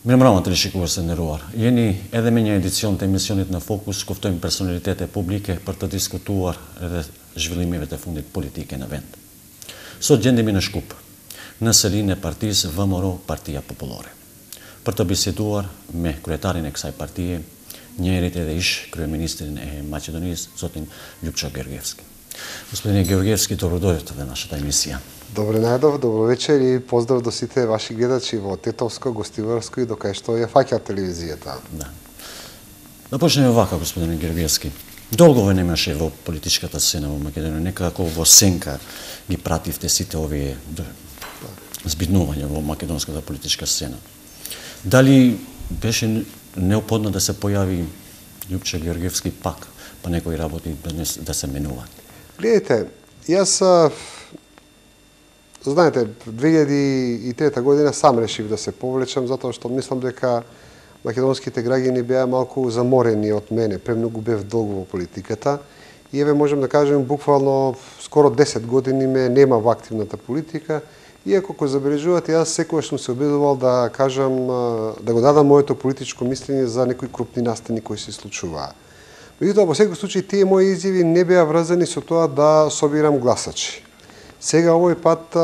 Меморавната лишикува се нерувар. Јени еде менја едиционите емисионите на Фокус, ковтоим персоналитете публике, парта дискутувар, еде жвилимивете фундит политике на вент. Со ѓендеми на шкуп. Населине партиз ВМРО партија популаре. Парта биседувар ме круетарин ексај партије, њерите да иш круеминистрин Македонијс, зотим Љупчо Георгиевски. Господине Георгиевски, добро дојдовте во нашата емисија. Добре најдов, добро вечер и поздрав до сите ваши гледачи во Тетовско, Гостиварско и до кај што ја фаќа телевизијата. Да. Да почнеме вака, господине Георгиевски. Долго ве немаше во политичката сцена во Македонија, некако во сенка ги пративте сите овие збиднувања во македонската политичка сцена. Дали беше неопходно да се појави Љупчо Георгиевски пак, па некои работи да се менува? Гледайте, јас знаете, 2003 година сам решив да се повлечам, затоа што мислам дека македонските граѓани беа малку заморени од мене, премногу бев долго во политиката. И еве можам да кажем, буквално скоро 10 години ме нема во активната политика, иако кој забележувате, јас секогаш сум се обидувал да кажам, да го дадам моето политичко мислење за некои крупни настани кои се случуваа. Меѓутоа, во секој случај, тие мои изјави не беа врзани со тоа да собирам гласачи. Сега овој пат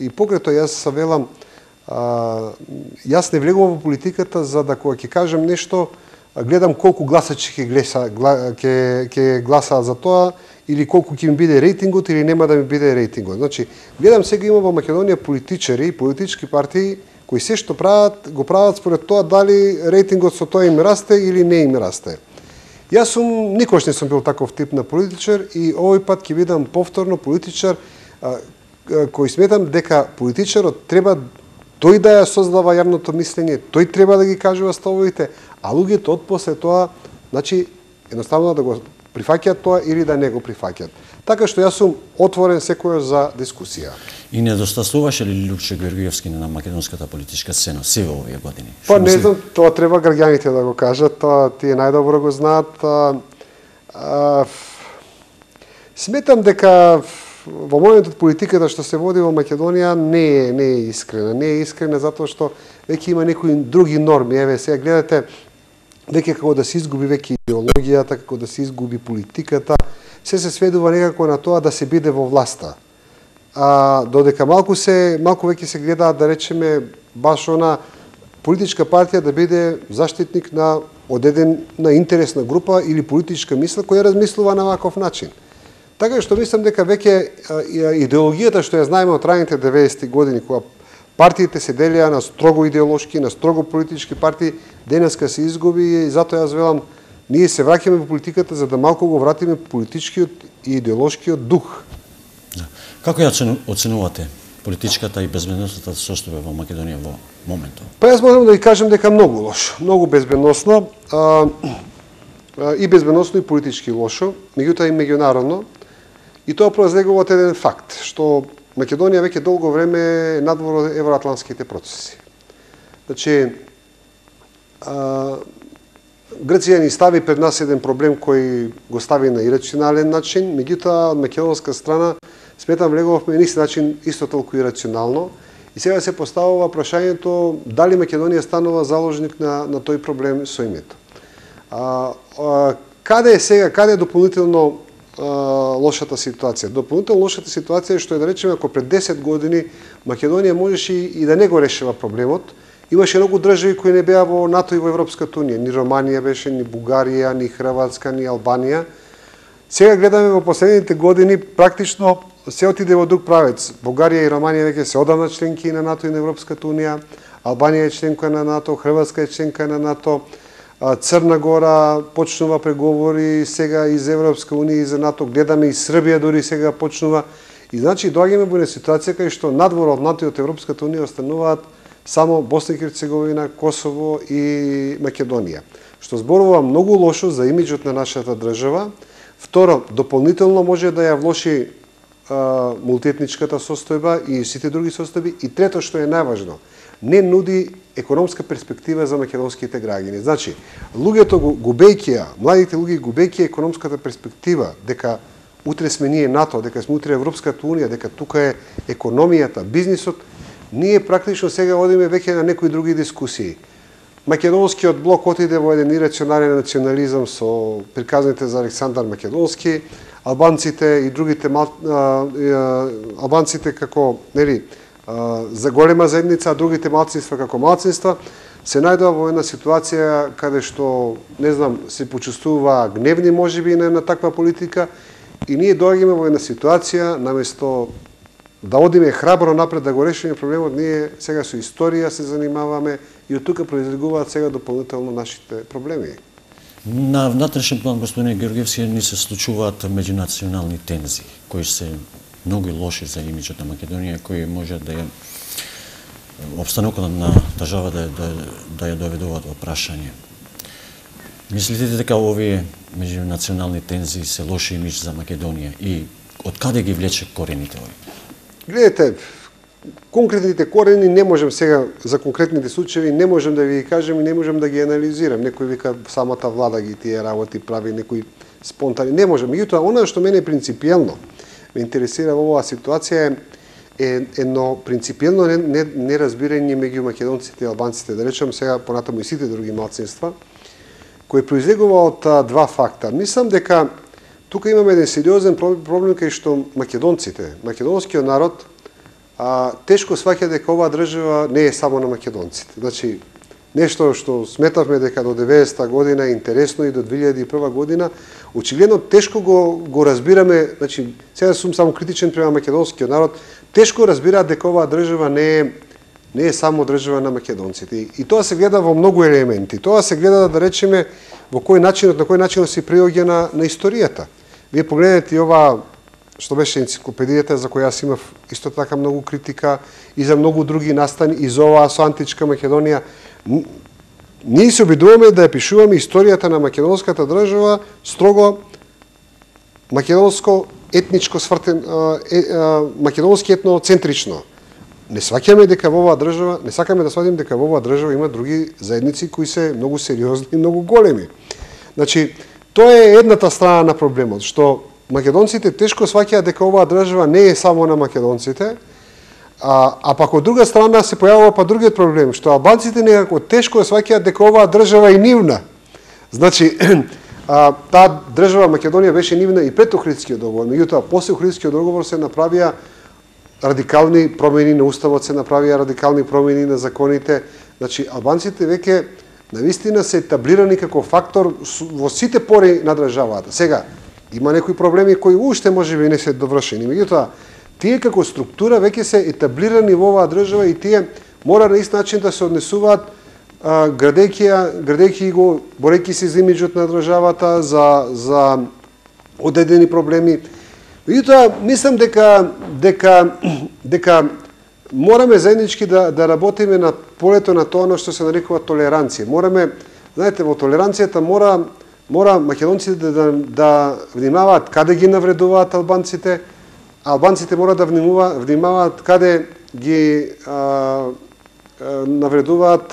и покрај тоа јас велам, јас не влегувам во политиката за да кога ќе кажам нешто, гледам колку гласачи ќе гласаат за тоа или колку ќе ми биде рейтингот или нема да ми биде рейтингот. Значи, гледам сега има во Македонија политичари и политички партии кои се што прават, го прават според тоа дали рейтингот со тоа им расте или не им расте. Јас никош не сум бил таков тип на политичар и овој пат ќе бидам повторно политичар кој сметам дека политичарот треба тој да ја создава јавното мислење, тој треба да ги кажува ставовите, а луѓето од после тоа, значи, едноставно да го прифаќаат тоа или да не го прифаќаат. Така што јас сум отворен секојаш за дискусија. И недостасуваше ли Љупчо Георгиевски на македонската политичка сцена сиве овие години? Па не знам, тоа треба граѓаните да го кажат, тоа тие најдобро го знаат. Сметам дека во моментот политиката што се води во Македонија не е искрена. Не е искрена затоа што веќе има некои други норми. Еве, сега гледате, веќе како да се изгуби веќе идеологијата, како да се изгуби политиката, се сведува некако на тоа да се биде во власта. Додека малку веќе се гледаат, да речеме, баш она политичка партија да биде заштитник на одедена интересна група или политичка мисла која размислува на ваков начин. Така што мислам дека веќе идеологијата што ја знаеме од раните 90-ти години, кога партиите се делија на строго идеолошки, на строго политички партии, денеска се изгуби и затоа јас велам, ние се враќаме во политиката за да малку го вратиме политичкиот и идеолошкиот дух. Како ја оценувате политичката и безбедносната состојба во Македонија во моментот? Па јас можам да ви кажам дека многу лошо, многу безбедносно, и безбедносно и политички лошо, меѓутоа и меѓународно. И тоа произлегува од еден факт, што Македонија веќе долго време е надвор од евроатлантските процеси. Значи, Грција ни стави пред нас еден проблем кој го стави на ирационален начин, меѓутоа од македонска страна сметам влегувавме на исти начин исто толку ирационално. И сега се поставува прашањето дали Македонија станува заложник на тој проблем со името. Каде е сега, каде е дополнително лошата ситуација? Дополнително лошата ситуација е што е, да речеме, ако пред 10 години Македонија можеше и да не го решава проблемот, имаше многу држави кои не беа во НАТО и во Европската унија. Ни Романија беше, ни Бугарија, ни Хрватска, ни Албанија. Сега гледаме во последните години практично се отиде во друг правец. Бугарија и Романија веќе се одамна членки на НАТО и на Европската унија, Албанија е членка на НАТО, Хрватска е членка на НАТО, Црна Гора почнува преговори сега и за Европска унија и за НАТО, гледаме и Србија дори сега почнува. И значи доаѓаме во една ситуација кај што надвор од НАТО и од Европската унија остануваат само Босна и Херцеговина, Косово и Македонија. Што зборува многу лошо за имиџот на нашата држава. Второ, дополнително може да ја влоши мултиетничката состојба и сите други состојби. И трето, што е најважно, не нуди економска перспектива за македонските граѓани. Значи, луѓето губејќи, младите луѓе губејќи економската перспектива дека утре сме ние НАТО, дека сме утре Европската унија, дека тука е економијата, бизнисот, ние практично сега одиме веќе на некои други дискусии. Македонскиот блок отиде во еден ирационален национализам со приказните за Александар Македонски, албанците и другите албанците како, нели, за голема заедница, а другите малцинства како малцинства, се најдува во една ситуација каде што, не знам, се почувствува гневни можеби на таква политика и ние доаѓаме во една ситуација, наместо да одиме храбро напред да го решиме проблемот, ние сега со историја се занимаваме и од тука произлегуваат сега дополнително нашите проблеми. На внатрешен план, господине Георгиевски, ни се случуваат меѓунационални тензии, кои се многу лоши за имиджот на Македонија, кои може да ја обстанокот на држава да ја доведуваат во прашање. Мислите дека овие меѓунационални тензии се лоши имидж за Македонија и од каде ги влече корените овие? Гледате, конкретните корени не можем сега, за конкретните случаи, не можем да ви кажем и не можем да ги анализирам. Некој вика самата влада ги тие работи прави, некои спонтани. Не можем. Меѓутоа, она што мене принципиелно ме интересира во оваа ситуација е едно принципиелно неразбирање меѓу македонците и албанците, да речем сега понатаму и сите други малцинства, кој произлегува од два факта. Мислам дека тука имаме еден сериозен проблем кај што македонците, македонскиот народ, тешко сваќа дека оваа држава не е само на македонците. Значи, нешто што сметавме дека до 90-та година е интересно и до 2001 година, очигледно тешко го разбираме, значи, сега сум само критичен према македонскиот народ, тешко разбираат дека оваа држава не е само држава на македонците. И тоа се гледа во многу елементи. Тоа се гледа, да речеме, на кој начин се приоѓа на историјата. Вие погледнете и ова што беше енциклопедијата, за која јас имав исто така многу критика, и за многу други настани, и за оваа со античка Македонија. Ние се обидуваме да ја пишуваме историјата на македонската држава строго македонско етничко свртен, македонски етноцентрично. Не сваќаме дека во оваа држава, не сакаме да сватиме дека во оваа држава има други заедници кои се многу сериозни и многу големи. Значи, тоа е едната страна на проблемот, што македонците тешко сваќаат дека оваа држава не е само на македонците, а пак од друга страна се појавува па другиот проблем, што албанците некако тешко сваќаат дека оваа држава е нивна. Значи, таа држава Македонија беше нивна и пред Охридскиот договор, меѓутоа после Охридскиот договор се направија радикални промени на уставот, се направија радикални промени на законите. Значи, албанците веќе навистина се етаблирани како фактор во сите пори на државата. Сега, има некои проблеми кои уште можеби не се довршени, меѓутоа тие како структура веќе се етаблирани во оваа држава и тие мора на ист начин да се однесуваат градејќи го, борејќи се за имиджот на државата, за одредени проблеми. Меѓутоа, мислам дека мораме заеднички да работиме на полето на тоа што се нарекува толеранција. Мораме, знаете, во толеранцијата мора македонците да внимаваат каде ги навредуваат албанците, албанците мора да внимаваат каде ги навредуваат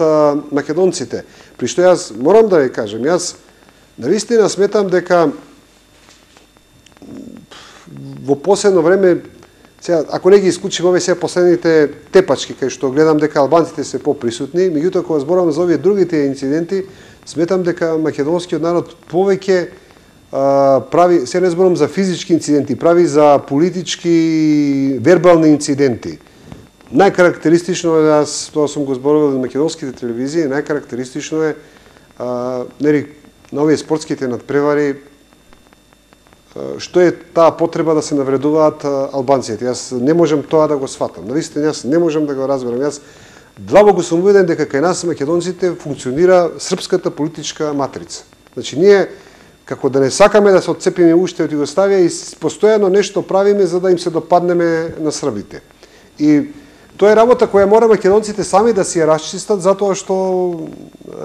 македонците. При што јас морам да ви кажем, јас навистина сметам дека во последно време, сега, ако не ги исклучим овие сега последните тепачки, кај што гледам дека албанците се поприсутни, меѓутоа кога зборувам за овие другите инциденти, сметам дека македонскиот народ повеќе прави, се не зборувам за физички инциденти, прави за политички, вербални инциденти. Најкарактеристично е, јас тоа сум го зборувал на македонските телевизии, најкарактеристично е нели на овие спортските надпревари што е таа потреба да се навредуваат албанците. Јас не можам тоа да го сватам. Навистина јас не можам да го разберам. Јас длабоко сум убеден дека кај нас македонците функционира српската политичка матрица. Значи ние како да не сакаме да се отцепиме уште од Југославија и постојано нешто правиме за да им се допаднеме на србите. И тоа е работа која мора македонците сами да си ја расчистат, затоа што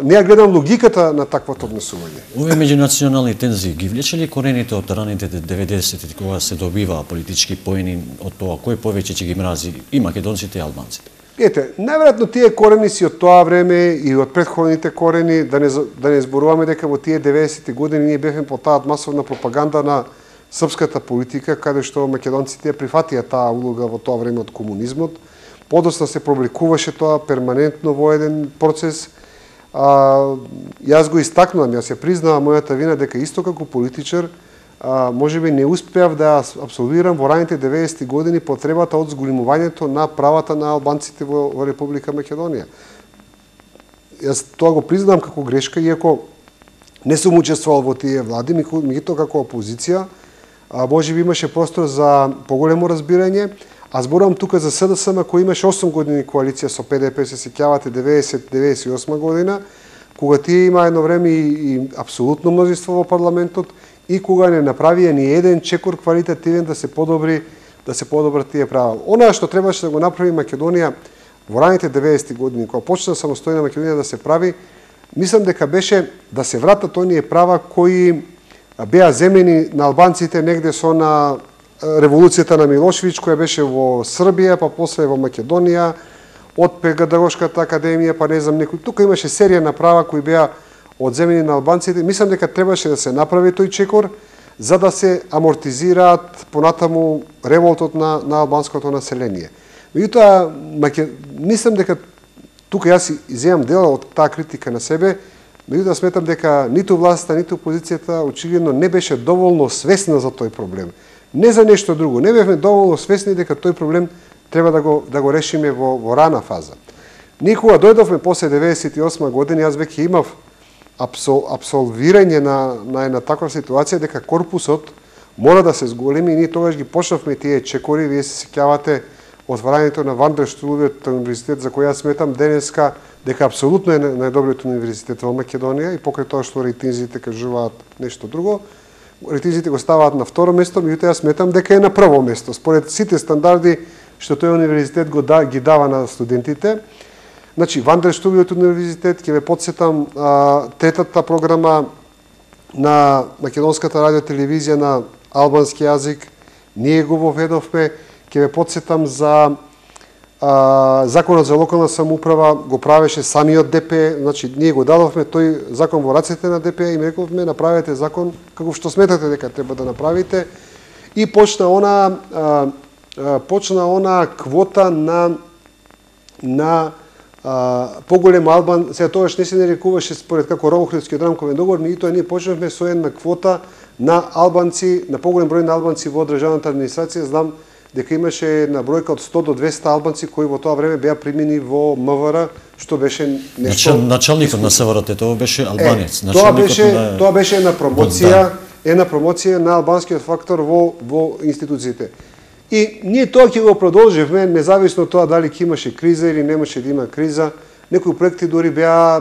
не ја гледам логиката на таквото однесување. Овие меѓунационални тензии ги влече ли корените од раните 90-ти, кога се добива политички поени од тоа кој повеќе ќе ги мрази и македонците и албанците? Ете, најверојатно тие корени си од тоа време и од претходните корени, да не зборуваме дека во тие 90-ти години ние бевме под таа масовна пропаганда на српската политика, каде што македонците ја прифатија таа улога во тоа време од комунизмот. подоцна се публикуваше тоа перманентно во еден процес. Јас го истакнувам, јас ја признавам мојата вина дека исто како политичар можеби не успеав да апсолвирам во раните 90-ти години потребата од зголемувањето на правата на албанците во Република Македонија. Јас тоа го признавам како грешка, иако не сум учествувал во тие влади, меѓутоа како опозиција, можеби имаше простор за поголемо разбирање. А зборувам тука за СДСМ кој имаше 8 години коалиција со ПДП, се сеќавате 90-98 година, кога тие има едно време и апсолутно мнозинство во парламентот и кога не направија ни еден чекор квалитативен да се подобрат тие права. Она што требаше да го направи Македонија во раните 90-ти години, кога почна самостојна Македонија да се прави, мислам дека беше да се вратат оние права кои беа земени на албанците негде со на револуцијата на Милошевиќ, која беше во Србија, па после во Македонија, од Педагошката академија, па не знам некој. Тука имаше серија на права кои беа одземени на албанците. Мислам дека требаше да се направи тој чекор, за да се амортизираат понатаму револтот на албанското население. Меѓутоа, мислам дека тука јас иземам дел од таа критика на себе, меѓутоа сметам дека ниту власта, ниту опозицијата очигледно не беше доволно свесна за тој проблем. Не за нешто друго. Не бевме доволно свесни дека тој проблем треба да го решиме во рана фаза. Ние кога дојдовме после 98 година, јас веќе имав абсолвирање на една таква ситуација дека корпусот мора да се зголеми и ние тогаш ги почнавме тие чекори. Вие се сеќавате отварањето на Вандерштуловиот универзитет, за кој јас сметам денеска дека апсолутно е најдобриот универзитет во Македонија и покрај тоа што рейтинзите кажуваат нешто друго, рейтинзите го ставаат на второ место, меѓутоа јас сметам дека е на прво место според сите стандарди што тој универзитет ги дава на студентите. Значи, Вандерштуловиот универзитет, ќе ве потсетам, третата програма на Македонската радиотелевизија на албански јазик, ние го воведовме. Ќе ве потсетам за законот за локална самоуправа, го правеше самиот ДП, значи ние го дадовме тој закон во рацете на ДП и им рековме направете закон како што сметате дека треба да направите, и почна она квота на поголем албан, сега тогаш не се нарекуваше според како Ромохридскиот рамковен договор, меѓутоа ние почнавме со една квота на албанци, на поголем број на албанци во државната администрација. Знам дека имаше една бројка од 100 до 200 албанци кои во тоа време беа примени во МВР, што беше нешто... Началникот на СВРТ беше албанец. Тоа беше една промоција на албанскиот фактор во институциите. И ние тоа ќе го продолживме, независно тоа дали ќе имаше криза или немаше да има криза. Некои проекти дори беа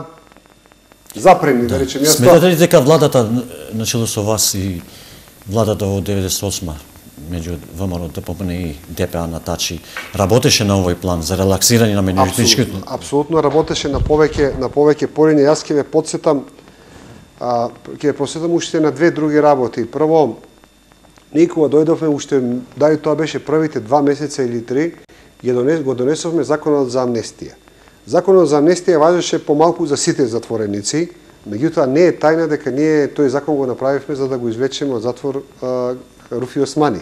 запрени, да речем. Сметате ли дека владата, начело со вас и владата во 98 меѓу ВМРО, ДПМН и ДПА на Тачи, работеше на овој план за релаксирање на меѓуетничкото? Апсолутно работеше на повеќе полиња. Јас ќе ве потсетам уште на две други работи. Прво, ние кога дојдовме, уште дали тоа беше првите 2 месеца или 3, го донесовме законот за амнестија. Законот за амнестија важеше помалку за сите затвореници, меѓутоа не е тајна дека ние тој закон го направивме за да го извлечеме од затвор Руфи Османи,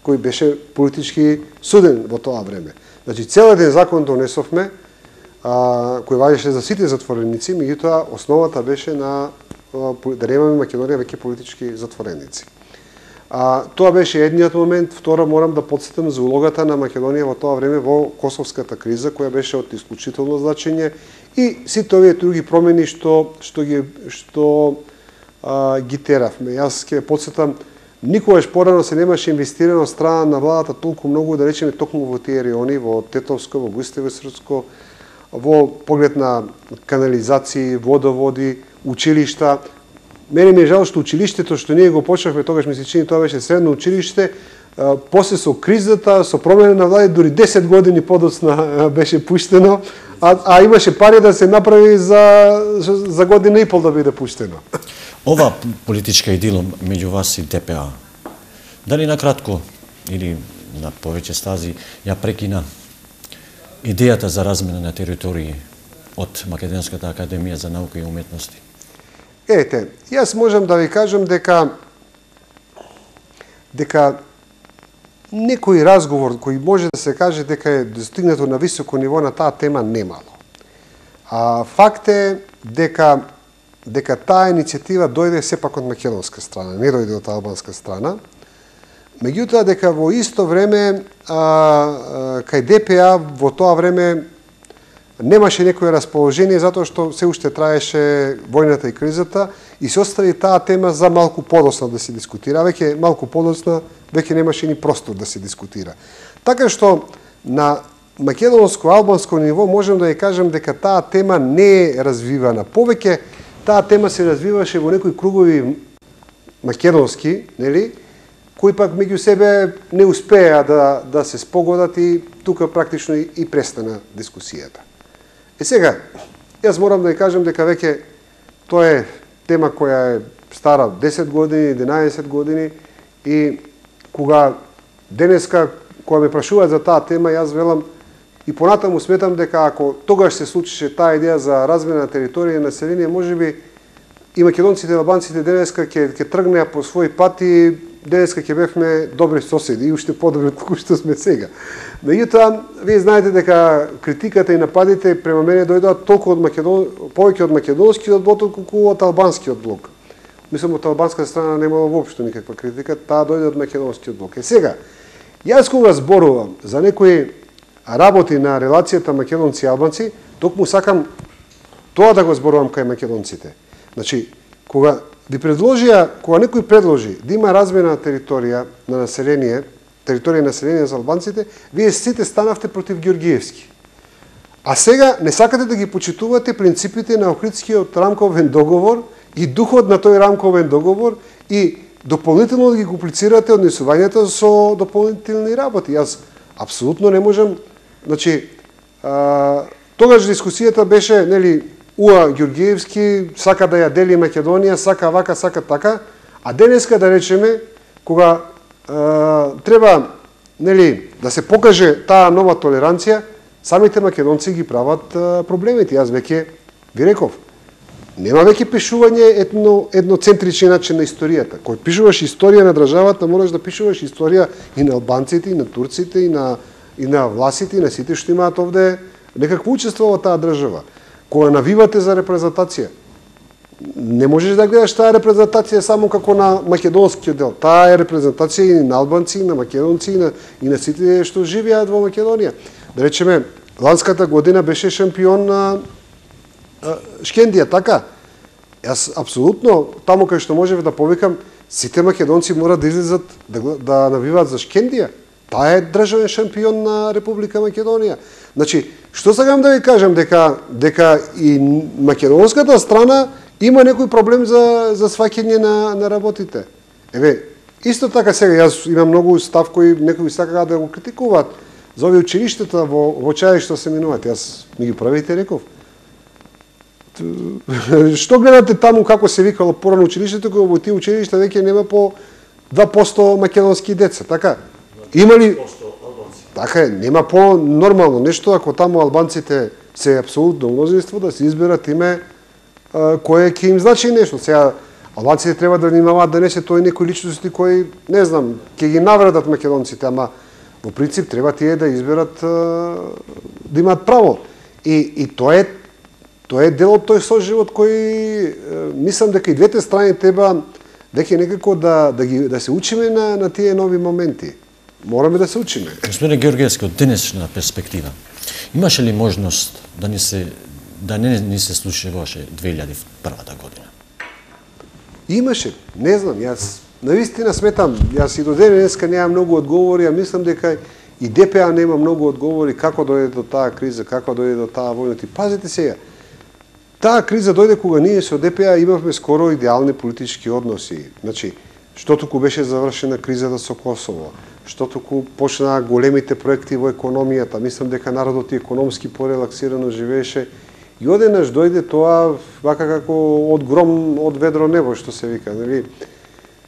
кој беше политички суден во тоа време. Значи, цел еден закон донесовме, кој важеше за сите затвореници, меѓутоа основата беше да немаме Македонија веќе политички затвореници. Тоа беше едниот момент. Второ, морам да потсетам за улогата на Македонија во тоа време во косовската криза, која беше од исклучително значење, и сите овие други промени што ги теравме. Јас ќе потсетам, никогаш порано се немаше инвестирано од страна на владата толку многу, да речеме, токму во тие райони, во Тетовско, во Густевсрско, во поглед на канализации, водоводи, училишта. Мене ми е жал што училиштето што ние го почнавме, тогаш ми се чини тоа беше средно училиште, после со кризата, со промена на влади, дури 10 години подоцна беше пуштено, а имаше пари да се направи за година и пол да биде пуштено. Ова политичка идила меѓу вас и ДПА, дали на кратко или на повеќе стази ја прекина идејата за размена на територии од Македонската академија за наука и уметности? Ете, јас можам да ви кажам дека некој разговор кој може да се каже дека е достигнато на високо ниво на таа тема немало. Факт е дека таа иницијатива дојде сепак од македонска страна, не дојде од албанска страна. Меѓутоа дека во исто време кај ДПА во тоа време немаше некое расположение затоа што се уште траеше војната и кризата и се остави таа тема за малку подоцна да се дискутира. Веќе малку подоцна веќе немаше ни простор да се дискутира. Така што на македонско-албанско ниво можем да ја кажем дека таа тема не е развивана. Повеќе таа тема се развиваше во некои кругови македонски, нели, кои пак меѓу себе не успеа да се спогодат и тука практично и престана дискусијата. Сега, јас морам да ја кажем дека веќе тоа е тема која е стара 10 години, 11 години и кога денеска, кога ме прашуваат за таа тема, јас велам и понатаму сметам дека ако тогаш се случише таа идеја за размена на територија и население, можеби и македонците и албанците денеска ќе тргнеа по свој пат и денеска ќе бевме добри соседи и уште подобри од кои што сме сега. Меѓутоа, вие знаете дека критиката и нападите према мене дојдоа толку од повеќе од македонскиот блок колку од албанскиот блок. Мислам, од албанска страна немало воопшто никаква критика, таа дојде од македонскиот блок. Сега, јас кога зборувам за некои работи на релацијата македонци и албанци, токму сакам тоа да го зборувам кај македонците. Значи, кога некој предложи да има размена на територија на население, територија на население за албанците, вие сите станавте против Ѓорѓиевски. А сега не сакате да ги почитувате принципите на Охридскиот рамковен договор и духот на тој рамковен договор и дополнително да ги комплицирате однесувањето со дополнителни работи. Јас апсолутно не можам, значи, тогаш дискусијата беше, нели, Ѓорѓиевски сака да ја дели Македонија, сака вака, сака така, а денеска да речеме, кога треба, нели, да се покаже таа нова толеранција, самите македонци ги прават проблемите. Јас веќе ви реков, нема веќе пишување едноцентричен начин на историјата. Кој пишуваш историја на државата, мораш да пишуваш историја и на албанците, и на турците, и на власите, и на сите што имаат овде некакво учество во таа држава. Кога навивате за репрезентација, не можеш да гледаш таа репрезентација само како на македонскиот дел. Таа е репрезентација и на албанци, и на македонци, и на сите што живеат во Македонија. Да речеме, ланската година беше шампион на Шкендија, така? Јас апсолутно, таму кај што можев да повикам, сите македонци мора да излезат да навиваат за Шкендија. Таа е државен шампион на Република Македонија. Значи, што сакам да ви кажам, дека и македонската страна има некој проблем за сваќање на работите. Еве, исто така сега, јас имам многу став кои некои сакаат да го критикуваат за овие училиштата во чај што се минуваат. Јас ми ги правите, реков. Што гледате таму како се викало порано училиштето, кога во тие училишта веќе нема по 2% македонски деца, така? Има ли? Така е, нема по-нормално нешто ако таму албанците се апсолутно мнозинство да се изберат име кое ќе им значи нешто. Сега албанците треба да внимаваат да не се тој некои личности кои, не знам, ќе ги навредат македонците, ама во принцип треба тие да изберат да имаат право. И тоа е дел од тој соживот кој мислам дека и двете страни треба веќе некако да се учиме на тие нови моменти. Мораме да се учиме. Господине Ѓорѓиевски, од денешна перспектива, имаше ли можност да не ни се случуваше 2001 година? Имаше, не знам, јас навистина сметам, јас и до денеска немам многу одговори, а мислам дека и ДПА нема многу одговори како дојде до таа криза, како дојде до таа војна. Пазите сега, таа криза дојде кога ние со ДПА имавме скоро идеални политички односи. Значи, што туку беше завршена кризата со Косово, што туку почнаа големите проекти во економијата, мислам дека народот и економски порелаксирано живееше и одеднаш дојде тоа вака како од гром од ведро небо, што се вика, нели?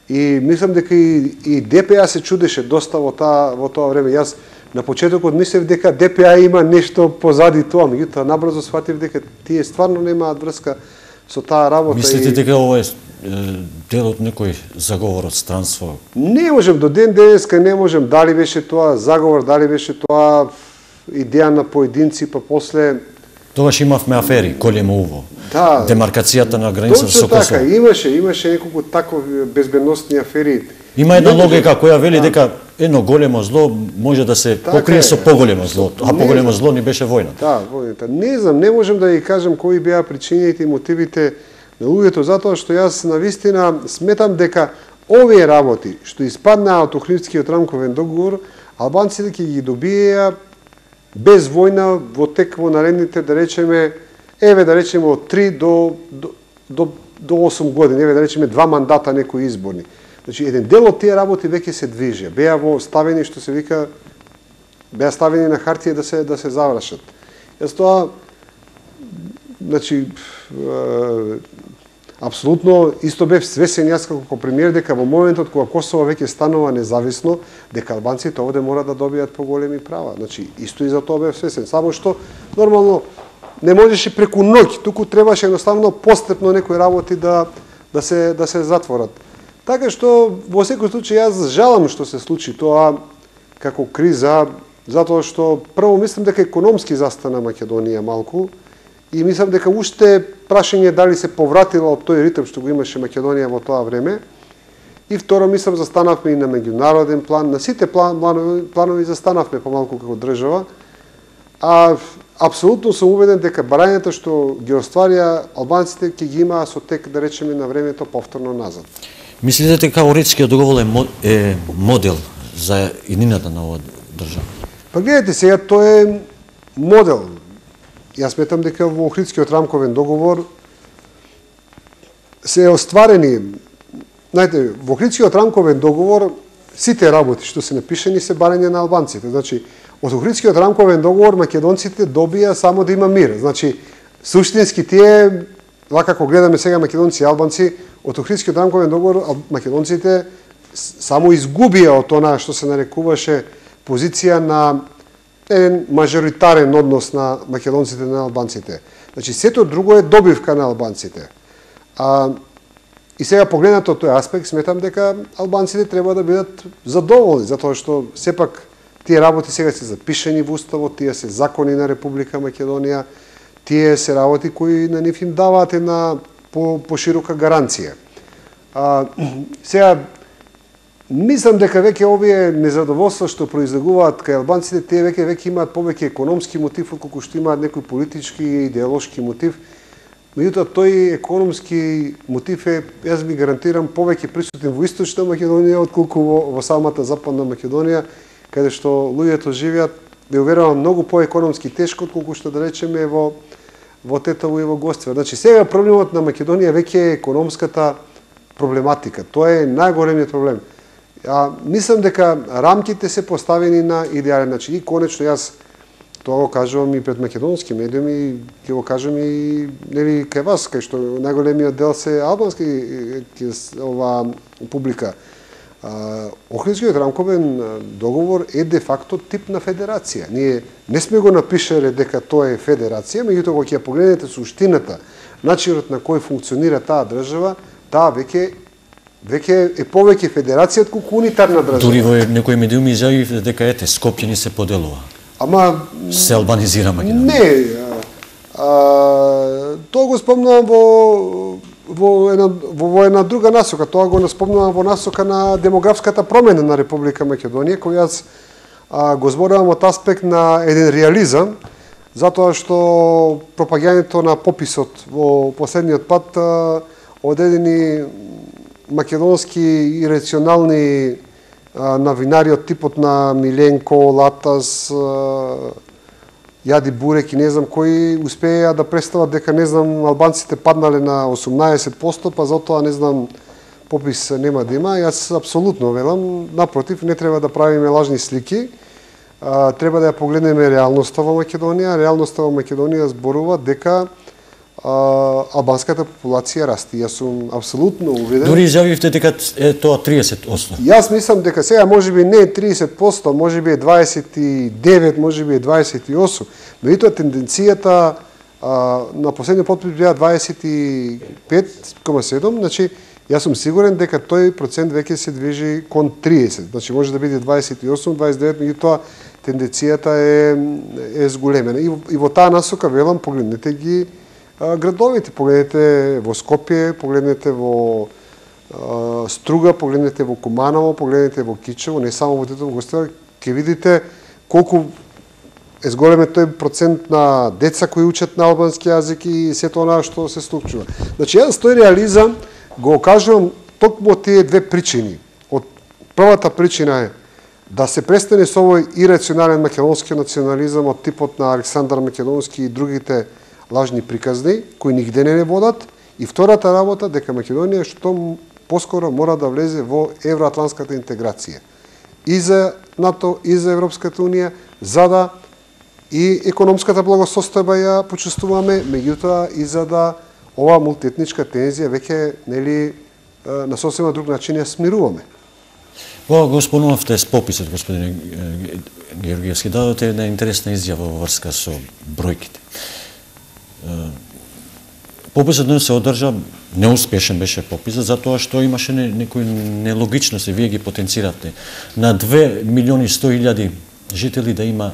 И мислам дека и ДПА се чудеше доста во тоа време. Јас на почетокот мислев дека ДПА има нешто позади тоа, меѓутоа набрзо сфатив дека тие стварно немаат врска со таа работа. Мислите дека ова е дел од некој заговор од странство? Не можем, до ден денеска не можем, дали беше тоа заговор, дали беше тоа идеја на поединци, па после... Тогаш имавме афери, Колемово, да, демаркацијата на границата со Косово. Косово. Имаше неколку такви безбедносни афери. Има една логика која вели дека едно големо зло може да се покрие со поголемо зло, а поголемо зло ни беше војната. Да, војната. Не знам, не можем да ги кажем кои беа причините и мотивите на луѓето, затоа што јас навистина сметам дека овие работи што испаднаа од Охридскиот рамковен договор, албанците ќе ги добиеа без војна во тек во наредните, да речеме, од 3 до 8 години, да речеме 2 мандата некои изборни. Значи, еден дел од тие работи веќе се движи, беа во ставени, што се вика, беа ставени на хартија да се завршат. Јас тоа, значи, апсолутно исто бев свесен јас како премиер дека во моментот кога Косово веќе станува независно, дека албанците овде мора да добијат поголеми права. Значи, исто и за тоа бев свесен. Само што, нормално, не можеше преку ноќ, туку требаше едноставно постепно некои работи да се затворат. Така што, во секој случај, јас жалам што се случи тоа како криза, затоа што прво мислам дека економски застана Македонија малку и мислам дека уште прашање дали се повратила од тој ритм што го имаше Македонија во тоа време. И второ, мислам, застанавме и на меѓународен план, на сите планови застанавме помалку како држава, а апсолутно сум убеден дека барањата што ги остварија албанците ќе ги имаа со тек, да речеме, на времето повторно назад. Мислите дека Охридскиот договор е модел за иднината на оваа држава? Па гледайте сега, тој е модел. Јас сметам дека во Охридскиот рамковен договор се остварени, знаете, во Охридскиот рамковен договор сите работи што се напишани се барање на албанците. Значи, од Охридскиот рамковен договор македонците добија само да има мир. Значи, суштински тие, вака како гледаме сега македонци и албанци, од Охридскиот рамковен договор македонците само изгубија од она што се нарекуваше позиција на еден мажоритарен однос на македонците на албанците. Значи, сето друго е добивка на албанците. И сега погледнато од тој аспект, сметам дека албанците треба да бидат задоволни, затоа што сепак тие работи сега се запишени во уставот, тие се закони на Република Македонија, тие се работи кои на нив им даваат една поширока гаранција. Сега, мислам дека веќе овие незадоволства што произлегуваат кај албанците, тие веќе имаат повеќе економски мотив отколку што имаат некој политички и идеолошки мотив. Меѓутоа, тој економски мотив е, јас ви гарантирам, повеќе присутен во Источна Македонија отколку во самата Западна Македонија, каде што луѓето живеат, ви уверувам, многу поекономски тешко отколку што, да речеме, во Тетово и во Гостве. Значи, сега проблемот на Македонија веќе е економската проблематика. Тоа е најголемиот проблем. Мислам дека рамките се поставени на идеален начин. И конечно, јас тоа го кажувам и пред македонски медиуми, ќе го кажам и нели кај вас, кај што најголемиот дел се албански ова публика. Охридскиот рамковен договор е де факто тип на федерација. Ние не сме го напишале дека тоа е федерација, меѓутоа кога ќе погледнете суштината, начинот на кој функционира таа држава, таа веќе е повеќе федерација отколку унитарна држава. Дури во некои медиуми изјави дека Скопје ни се поделува. Ама се албанизира Македонија. Не, тоа го спомнувам во една друга насока. Тоа го спомнувам во насока на демографската промена на Република Македонија, која јас го зборувам од аспект на еден реализам, затоа што пропагањето на пописот во последниот пат одредени македонски и рационални новинари од типот на Миленко, Латас, Јади Бурек и не знам кои успеа да представат дека, не знам, албанците паднале на 18%, па затоа, не знам, попис нема да има. Јас апсолутно велам, напротив, не треба да правиме лажни слики, треба да ја погледнеме реалноста во Македонија. Реалноста во Македонија зборува дека албанската популација расте. Јас сум апсолутно увиден. Дури изјавивте дека е тоа 30%. Јас мислам дека сега можеби не е 30%, можеби е 29, можеби е 28. Меѓутоа тенденцијата на последниот потпис беа 25,7, значи јас сум сигурен дека тој процент веќе се движи кон 30. Значи може да биде 28, 29, меѓутоа тенденцијата е зголемена. И во таа насока велам, погледнете ги градовите, погледнете во Скопје, погледнете во Струга, погледнете во Куманово, погледнете во Кичево, не само во Тетово Гостивар, ќе видите колку е зголемен тој процент на деца кои учат на албански јазик и сето она што се случува. Значи, јас тој реализам го кажувам токму тие две причини. Од првата причина е да се престане со овој ирационален македонски национализам од типот на Александар Македонски и другите лажни приказни, кои нигде не водат. И втората работа, дека Македонија што поскоро мора да влезе во евроатлантската интеграција. И за НАТО, и за Европската Унија, за да и економската благосостојба ја почувствуваме, меѓутоа и за да ова мултиетничка тензија веќе нели на сосема друг начин ја смируваме. Во го спомнавте с пописот, господин Георгиевски, дадоте една интересна изјава во врска со бројките. Пописот не се одржа, неуспешен беше пописот, затоа што имаше некои нелогичности, вие ги потенцирате. На 2.100.000 жители да има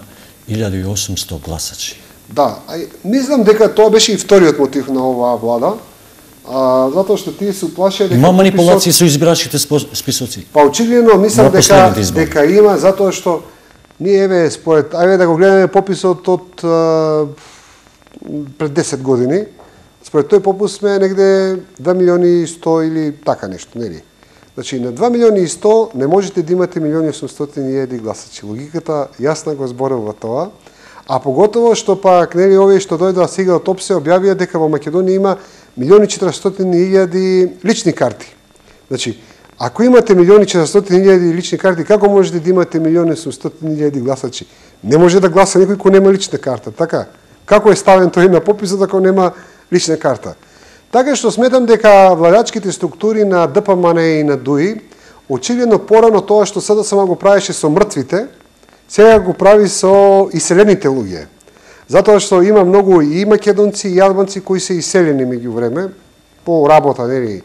1.800 гласачи. Да, мислам дека тоа беше и вториот мотив на оваа влада, затоа што тие се уплашија дека има манипулации со избирачките списоци. Па очигледно мислам дека има, затоа што ние еве според да го гледаме пописот од пред 10 години. Според тој попис сме негде 2.100.000 или така нешто, нели? Значи на 2.100.000 не можете да имате 1.800.000 гласачи. Логиката јасна го зборува тоа. А поготово што пак нели овие што дојдоа сега од ОПСЕ објавија дека во Македонија има 1.400.000 лични карти. Значи, ако имате 1.400.000 лични карти, како можете да имате 1.800.000 гласачи? Не може да гласа некој кој нема лична карта, така? Како е ставен тој на пописот ако нема лична карта? Така што сметам дека владачките структури на ДПМН и на ДУИ очигледно порано тоа што sada само го правеше со мртвите, сега го прави со иселените луѓе. Затоа што има многу и македонци и албанци кои се иселени меѓувреме по работа нели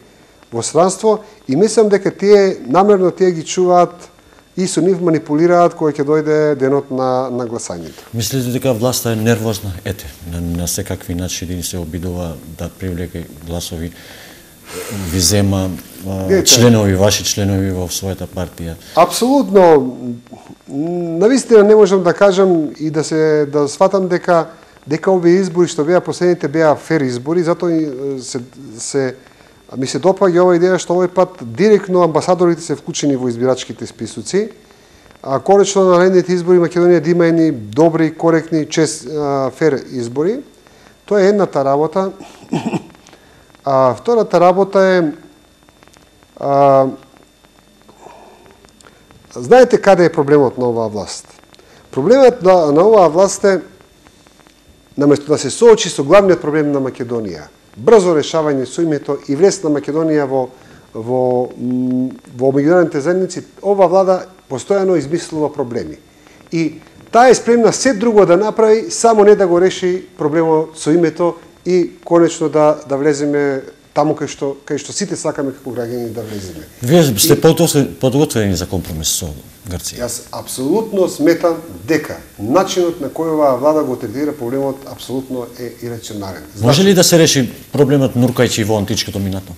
во странство и мислам дека тие намерно ги чуваат и со нив манипулираат кога ќе дојде денот на гласањето. Мислите дека власта е нервозна? Ете, на секакви начини се обидува да привлеке гласови, ви зема членови, ваши членови во својата партија? Апсолутно. Навистина не можам да кажам и да сватам дека овие избори што беа последните беа фер избори, затоа ми се допаѓа ова идеја што овој пат директно амбасадорите се вклучени во избирачките списоци. Конечно на наредните избори Македонија да има едни добри, коректни, фер избори. Тоа е едната работа. Втората работа е знаете каде е проблемот на оваа власт? Проблемот на оваа власт е наместо да се соочи со главниот проблем на Македонија, брзо решавање со името и влез на Македонија во меѓународните заедници, ова влада постојано измислува проблеми. И таа е спремна се друго да направи, само не да го реши проблемот со името и конечно да влеземе таму кај што сите сакаме како граѓани да влеземе. Вие сте подготвени за компромис со Грција? Јас апсолутно сметам дека начинот на кој оваа влада го третира проблемот апсолутно е ирационален. Може ли да се реши проблемот нуркајќи во античкото минато?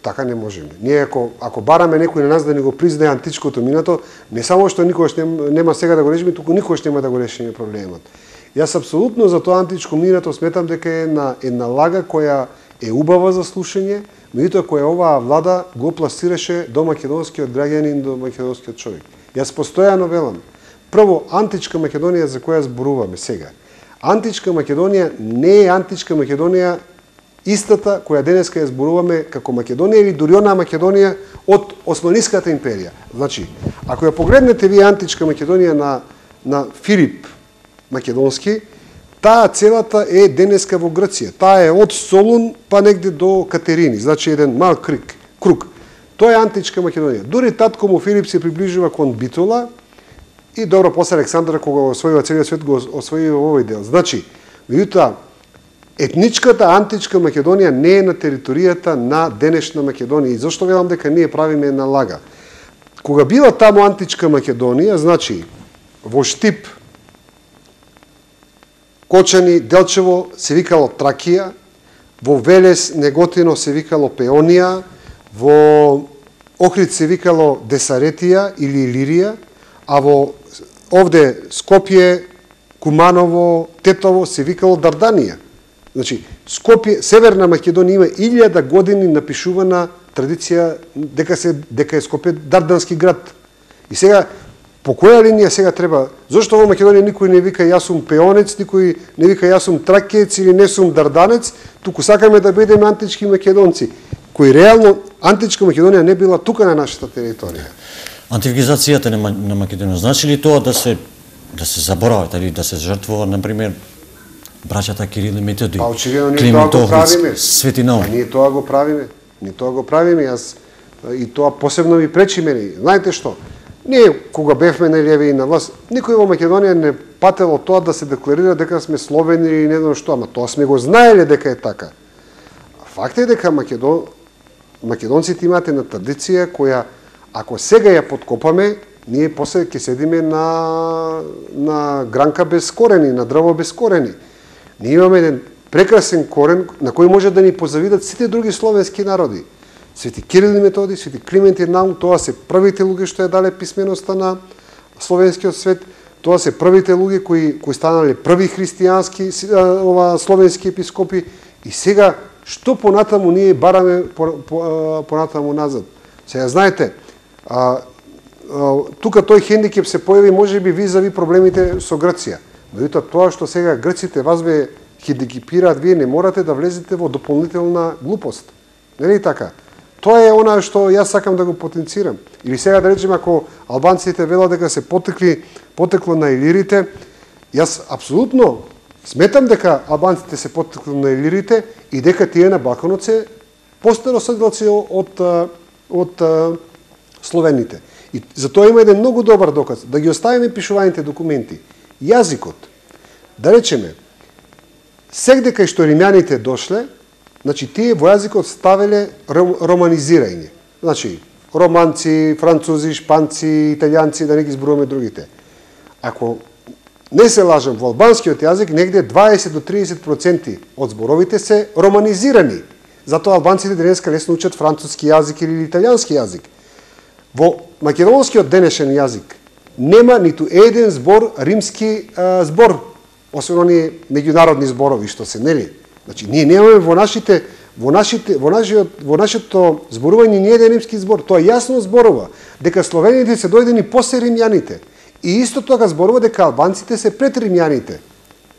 Така не можеме. Ние ако бараме некој на нас да ни го признае античкото минато, не само што никогаш нема сега да го решиме, туку никогаш нема да го решиме проблемот. Јас апсолутно за тоа античко минато сметам дека е една лага која е убава за слушање, меѓутоа која оваа влада го пласираше до македонскиот граѓанин, до македонскиот човек. Јас постојано велам, прво, античка Македонија за која зборуваме сега. Античка Македонија не е античка Македонија истата која денеска ја зборуваме како Македонија или дури онаа Македонија од Османиската империја. Значи, ако ја погледнете вие античка Македонија на Филип Македонски, таа целата е денеска во Грција. Таа е од Солун па негде до Катерини, значи еден мал круг. Тоа е античка Македонија. Дури татко му Филип се приближува кон Битола и добро после Александар кога освојува целиот свет го освојува овој дел. Значи, меѓутоа етничката античка Македонија не е на територијата на денешна Македонија. И зашто велам дека ние правиме една лага? Кога била таму античка Македонија, значи во Штип, Кочани, Делчево се викало Тракија, во Велес, Неготино се викало Пеонија, во Охрид се викало Десаретија или Илирија, а во овде Скопје, Куманово, Тетово се викало Дарданија. Значи, Скопје, Северна Македонија има 1000 години напишувана традиција дека е Скопје дардански град. И сега, по која линија сега треба? Зошто во Македонија никој не вика јас сум пеонец, никој не вика јас сум тракеец или не сум дарданец, туку сакаме да бидеме антички македонци, кои реално античка Македонија не била тука на нашата територија. Антифигизацијата на Македонија значи ли тоа да се заборават или да се жртвува, например, браќата Кирил и Методиј, Па очигледно ние тоа го правиме. Свети Наум? Ние тоа го правиме. Ние тоа го правиме. Јас и тоа посебно ми пречи мене. Знаете што? Ние кога бевме на леви и на власт, никој во Македонија не патело тоа да се декларира дека сме словени или не знам што, ама тоа сме го знаеле дека е така. Факт е дека македонците имаат една традиција која ако сега ја подкопаме, ние после ќе седиме на гранка без корени, на дрво без корени. Ние имаме еден прекрасен корен на кој може да ни позавидат сите други словенски народи. Свети Кирил и Методиј, Свети Климент и Наум, тоа се првите луѓе што ја дале писменоста на словенскиот свет, тоа се првите луѓе кои станале први христијански словенски епископи и сега што понатаму ние бараме понатаму назад. Сега знаете, тука тој хендикеп се појави можеби визави проблемите со Грција. Меѓутоа тоа што сега грците вас ве хендикепираат, вие не морате да влезете во дополнителна глупост. Нели така? Тоа е она што јас сакам да го потенцирам. Или сега да речеме ако албанците велат дека се потекло на илирите, јас апсолутно сметам дека албанците се потекло на илирите и дека тие на Балканот се постароседлаци од словените. И за тоа има еден многу добар доказ. Да ги оставиме пишуваните документи. Јазикот, да речеме, сегде кај што римјаните дошле, значи тие во јазикот ставеле романизирање. Значи, романци, французи, шпанци, италијанци, да не ги зборуваме другите. Ако не се лажам, во албанскиот јазик негде 20 до 30% од зборовите се романизирани. Затоа албанците денеска лесно учат француски јазик или италијански јазик. Во македонскиот денешен јазик нема ниту еден збор римски збор, освен оние меѓународни зборови што се, нели? Значи ние немаме во нашето зборување ни еден римски збор. Тоа јасно зборува дека словените се дојдени после римјаните. И исто тоа зборува дека албанците се пред римјаните.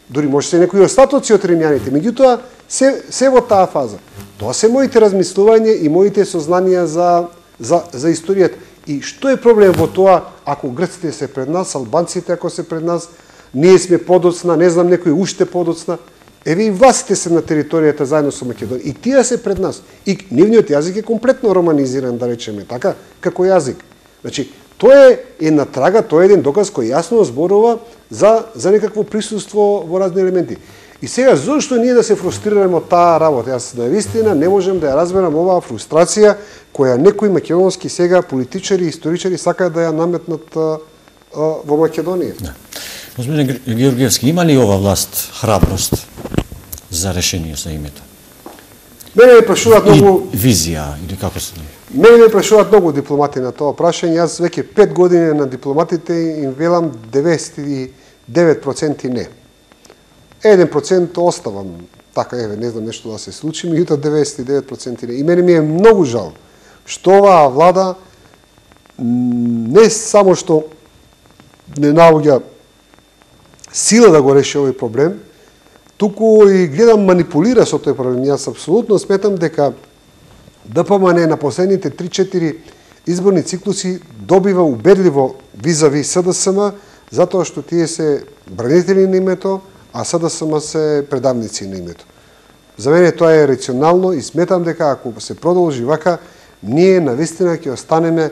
Дури може се некои остатоци од римјаните, меѓутоа се во таа фаза. Тоа се моите размислувања и моите сознанија за историјата. И што е проблем во тоа ако грците се пред нас, албанците ако се пред нас, ние сме подоцна, не знам некој уште подоцна. Еве и властите се на територијата заедно со Македонија. И тие се пред нас. И нивниот јазик е комплетно романизиран, да речеме така, како јазик. Значи, тоа е една трага, тоа е еден доказ кој јасно зборува за некакво присуство во разни елементи. И сега, зошто ние да се фрустрираме од таа работа? Јас наистина не можем да ја разберам оваа фрустрација која некои македонски сега политичари и историчари сакаат да ја наметнат во Македонија. Да. Господин Георгиевски, има ли ова власт храброст за решение за името? Мене ме прашуваат многу визија или како се? Мене ме прашуваат многу дипломати на тоа прашање. Јас веќе 5 години на дипломатите им велам 99% не. 1% оставам така, еве, не знам нешто да се случи, меѓутоа 99% не. И мене ми е многу жал што оваа влада не само што не наоѓа сила да го реши овој проблем, туку и гледам манипулира со тој проблем. Јас апсолутно сметам дека ДПМН на последните 3-4 изборни циклуси добива убедливо визави СДСМ, затоа што тие се бранители на името, а СДСМ се предавници на името. За мене тоа е рационално и сметам дека ако се продолжи вака, ние навистина ќе останеме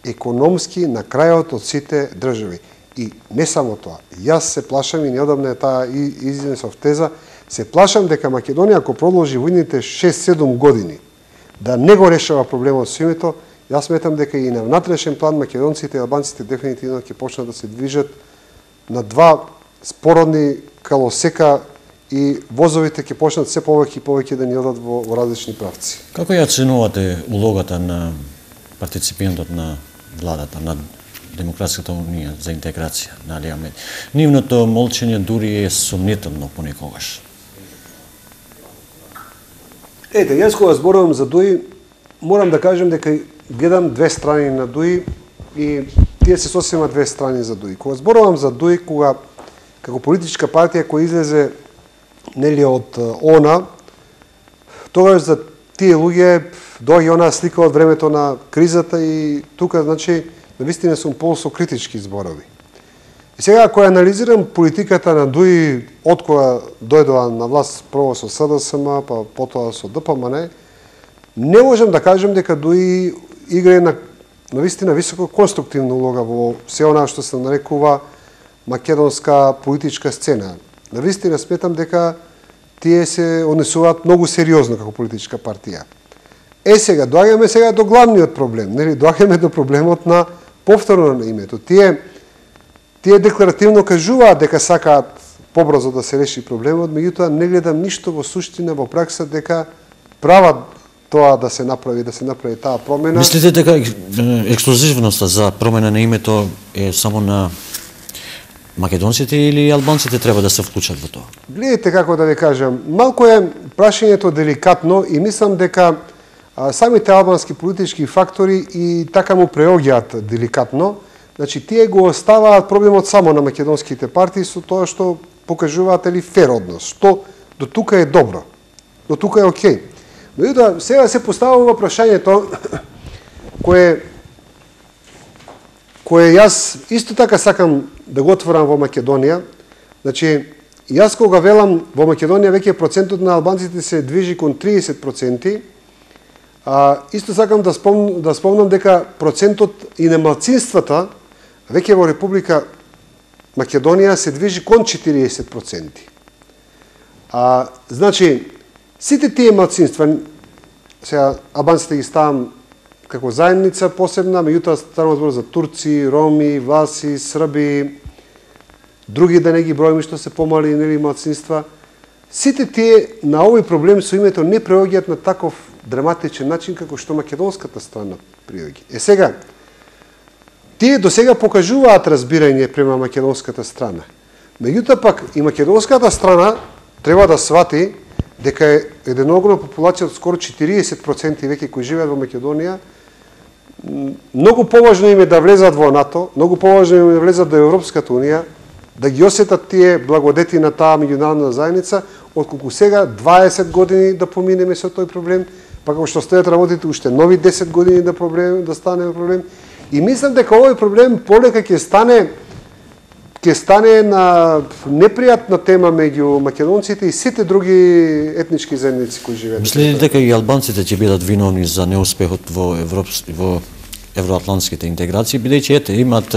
економски на крајот од сите држави. И не само тоа. Јас се плашам и неодамна е таа изнесов теза, Се плашам дека Македонија ако продолжи во идните 6-7 години да не го решава проблемот со името, јас сметам дека и на внатрешен план македонците и албанците дефинитивно ќе почнат да се движат на два спородни колосека и возовите ќе почнат се повеќе и повеќе да ни одат во различни правци. Како ја оценувате улогата на партиципантот на владата, на Демократската унија за интеграција на Али Ахмеди? Нивното молчење дури е сомнително понекогаш. Ете, јас кога зборувам за ДУИ, морам да кажем дека гледам две страни на ДУИ и тие се сосема две страни за ДУИ. Кога зборувам за ДУИ, кога како политичка партија која излезе нели од ОНА, тогаш за тие луѓе доаѓа онаа слика од времето на кризата и тука, значи, навистина сум полсо критички зборови. И сега, ако ја анализирам политиката на ДУИ од кога дојдоа на власт прво со СДСМ, па потоа со ДПМН, не можам да кажем дека ДУИ играе на навистина високо конструктивна улога во се она што се нарекува македонска политичка сцена. Навистина сметам дека тие се однесуваат многу сериозно како политичка партија. Сега, доаѓаме сега до главниот проблем, нели, доаѓаме до проблемот на повторно на името. Тие декларативно кажуваат дека сакаат побрзо да се реши проблемот, меѓутоа не гледам ништо во суштина, во пракса дека прават тоа да се направи таа промена. Мислите дека ексклузивноста за промена на името е само на македонците или албанците треба да се вклучат во тоа? Гледайте како да ви кажам, малку е прашањето деликатно и мислам дека самите албански политички фактори и така му преоѓаат деликатно. Значи, тие го оставаат проблемот само на македонските партии со тоа што покажуваат или фер однос, што до тука е добро, до тука е окей. Меѓутоа, сега се поставува прашањето кое јас исто така сакам да го отворам во Македонија. Значи, јас кога велам во Македонија веќе процентот на албанците се движи кон 30%, исто сакам да спомнам дека процентот и на малцинствата веќе во Република Македонија се движи кон 40%. Значи, сите тие малцинства, сега албанците ги ставам како заедница посебна, меѓутоа станува збор за турци, роми, власи, срби, други да не ги бројаме што се помали нели малцинства. Сите тие на овој проблем со името не преоѓаат на таков драматичен начин како што македонската страна приоѓа. Сега, тие до сега покажуваат разбирање према македонската страна. Меѓутоа пак и македонската страна треба да свати дека е една огромна популација од скоро 40% веќе кои живеат во Македонија. Многу поважно им е да влезат во НАТО, многу поважно им е да влезат до Европската унија, да ги осетат тие благодети на таа меѓународна заедница, отколку сега 20 години да поминеме со тој проблем, па како што стојат работите уште нови 10 години да стане проблем. И мислам дека овој проблем полека ќе стане на непријатна тема меѓу македонците и сите други етнички заедници кои живеат. Мислите дека и албанците ќе бидат виновни за неуспехот во евроатлантските интеграции, бидејќи ете имат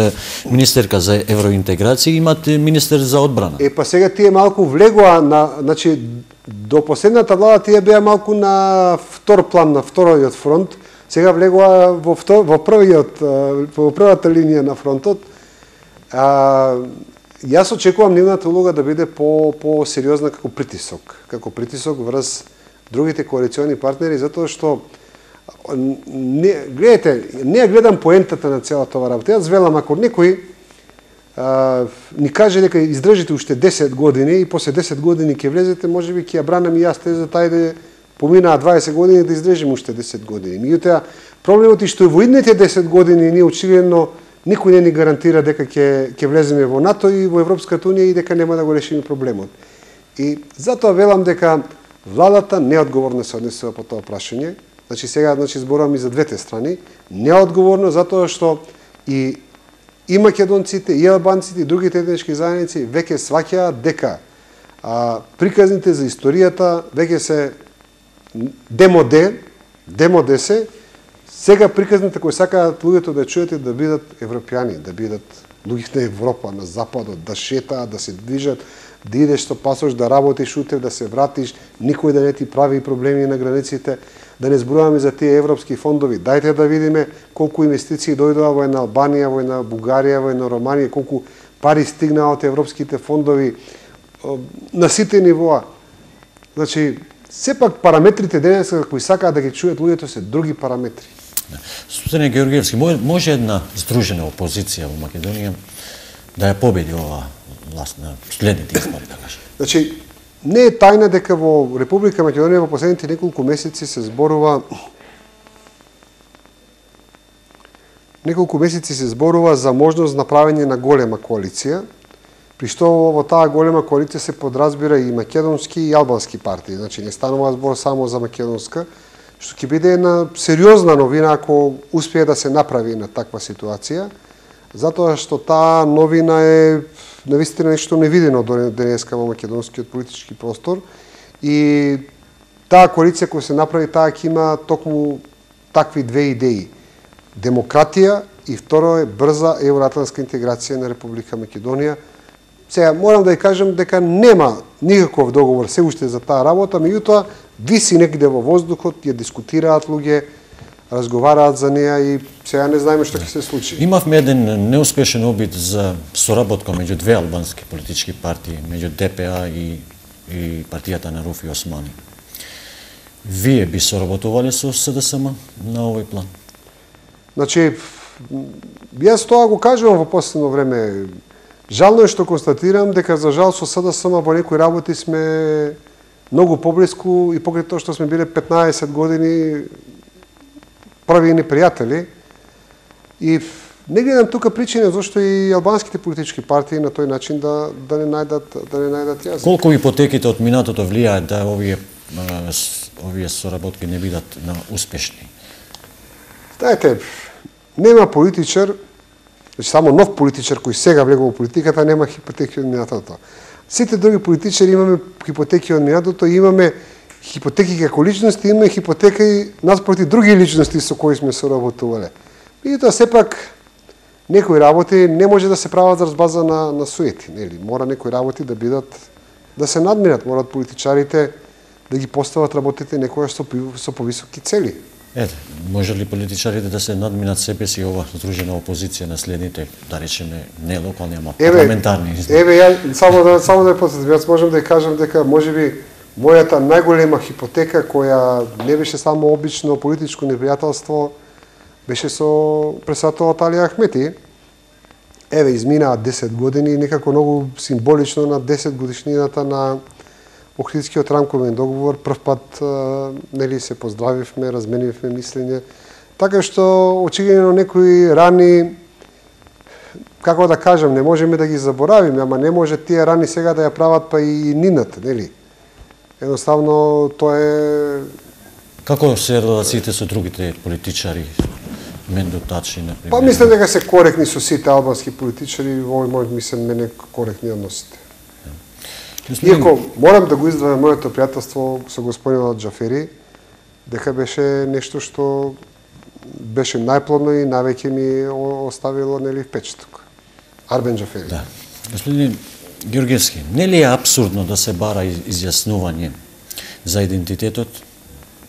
министерка за евроинтеграција, имат министер за одбрана. Па сега тие малку влегоа значи до последната влада тие беа малку на втор план, на вториот фронт. Сега влегоа во првата линија на фронтот. Јас очекувам нивната улога да биде по-сериозна како притисок врз другите коалициони партнери, затоа што гледате, не ја гледам поентата на целата ова работа. Јас велам, ако некој ни каже дека издржите уште 10 години и после 10 години ќе влезете, можеби ќе ја бранам и јас теза тајде поминаа 20 години да издржиме уште 10 години. Меѓутоа, проблемот е што во идните 10 години ние очигледно никој не ни гарантира дека ќе влеземе во НАТО и во Европската унија и дека нема да го решиме проблемот. И затоа велам дека владата неодговорно се однесува по тоа прашање. Значи сега зборувам и за двете страни. Неодговорно затоа што и македонците, и албанците, и другите етнички заедници веќе сваќаат дека приказните за историјата веќе се демоде се. Сега приказните кои сакаат луѓето да чуете да бидат европјани, да бидат луѓе на Европа, на Западот, да шетаат, да се движат, да идеш со пасош, да работиш утре, да се вратиш, никој да не ти прави проблеми на границите, да не зборуваме за тие европски фондови. Дајте да видиме колку инвестиции дојдоа во една Албанија, во една Бугарија, во една Романија, колку пари стигнаа од европските фондови на сите нивоа. Значи, сепак параметрите денеска кои сакаат да ги чујат луѓето се други параметри. Суседне Георгиевски, може една здружена опозиција во Македонија да ја победи оваа власт на следните избори, да кажем? Значи, не е тајна дека во Република Македонија во последните неколку месеци се зборува за можност на правење на голема коалиција, при што во таа голема коалиција се подразбира и македонски и албански партии. Значи, не станува збор само за македонска, што ќе биде една сериозна новина ако успее да се направи на таква ситуација, затоа што таа новина е навистина нешто невидено до денеска во македонскиот политички простор и таа коалиција која се направи, таа ќе има токму такви две идеи. Демократија и второ е брза евроатлантска интеграција на Република Македонија. Сега, морам да ја кажам дека нема никаков договор се уште за таа работа, меѓутоа виси некаде во воздухот, ја дискутираат луѓе, разговараат за неа и сега не знаеме што ќе се случи. Имавме еден неуспешен обид за соработка меѓу две албански политички партии, меѓу ДПА и партијата на Руфи Османи. Вие би соработувале со СДСМ на овој план? Значи, јас тоа го кажувам во последно време. Жално е што констатирам дека за жал со СДСМ во некои работи сме многу поблиску и покрај тоа што сме биле 15 години прави непријатели. И не гледам тука причина зашто и албанските политички партии на тој начин да не најдат јазик. Колку ипотеките од минатото влијаат да овие соработки не бидат успешни? Знаете, нема политичар, само нов политичар кој сега влегува во политиката, нема хипотеки од минатото. Сите други политичари имаме хипотеки од минатото, имаме хипотеки како личности, имаме хипотеки наспроти други личности со кои сме соработувале. Меѓутоа, сепак, некои работи не може да се прават за база на суети, нели? Мора некои работи да се надминат, морат политичарите да ги постават работите некоја со повисоки цели. Ете, може ли политичарите да се надминат себе си ова здружена опозиција на следните, да речеме, не локални, ама парламентарни избори? Ја само да ја потсетам, јас можам да ја кажам дека можеби мојата најголема хипотека која не беше само обично политичко непријателство, беше со председателот Али Ахмети. Изминаа 10 години и некако многу символично на 10 годишнината на Охридскиот рамковен договор, прв пат нели се поздравивме, разменивме мислење, така што очигледно некои рани, како да кажам, не можеме да ги заборавиме, ама не може тие рани сега да ја прават па и нинат, нели? Едноставно тоа е... Како се релациите со другите политичари, Мендо Тачи, например? Па мислам дека се коректни со сите албански политичари, овој мој мислам мене коректни односите. Иако морам да го издвојам моето пријателство со господинот Џафери, дека беше нешто што беше најплодно и највеќе ми оставило нели впечаток. Арбен Џафери. Да. Господин Георгиевски, нели е апсурдно да се бара изјаснување за идентитетот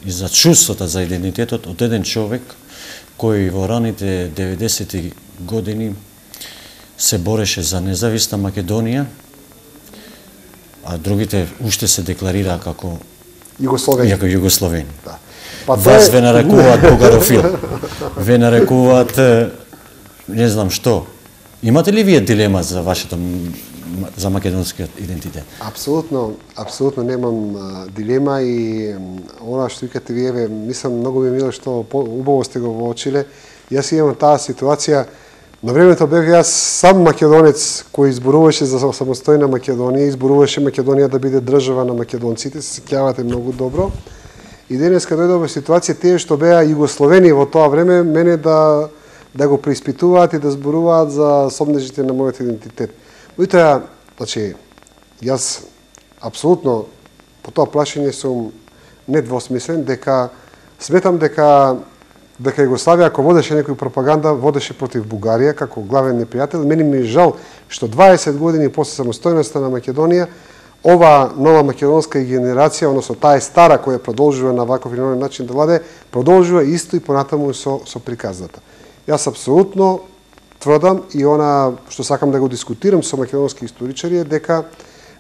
и за чувството за идентитетот од еден човек кој во раните 90-ти години се бореше за независна Македонија, а другите уште се декларираа како Југословени. Да. Вас ве нарекуваат бугарофил. Ве нарекуваат не знам што. Имате ли вие дилема за за македонскиот идентитет? Апсолутно немам дилема и она што викате вие, мислам многу ми мило што убаво сте го воочиле. Јас имам таа ситуација. На времето бев јас сам македонец кој изборуваше за самостојна Македонија, изборуваше Македонија да биде држава на македонците, се сеќавате многу добро. И денеска дојдов во ситуација тие што беа југословени во тоа време мене да го преиспитуваат и да зборуваат за сомнежите на мојот идентитет. Меѓутоа, значи, јас апсолутно по тоа плашење сум недвосмислен дека сметам дека дека Југославија, ако водеше некој пропаганда, водеше против Бугарија како главен непријател. Мене ми е жал што 20 години после самостојноста на Македонија, ова нова македонска генерација, односно таа е стара која продолжува на ваков или оној начин да владе, продолжува исто и понатаму со приказната. Јас апсолутно тврдам и она што сакам да го дискутирам со македонски историчари е дека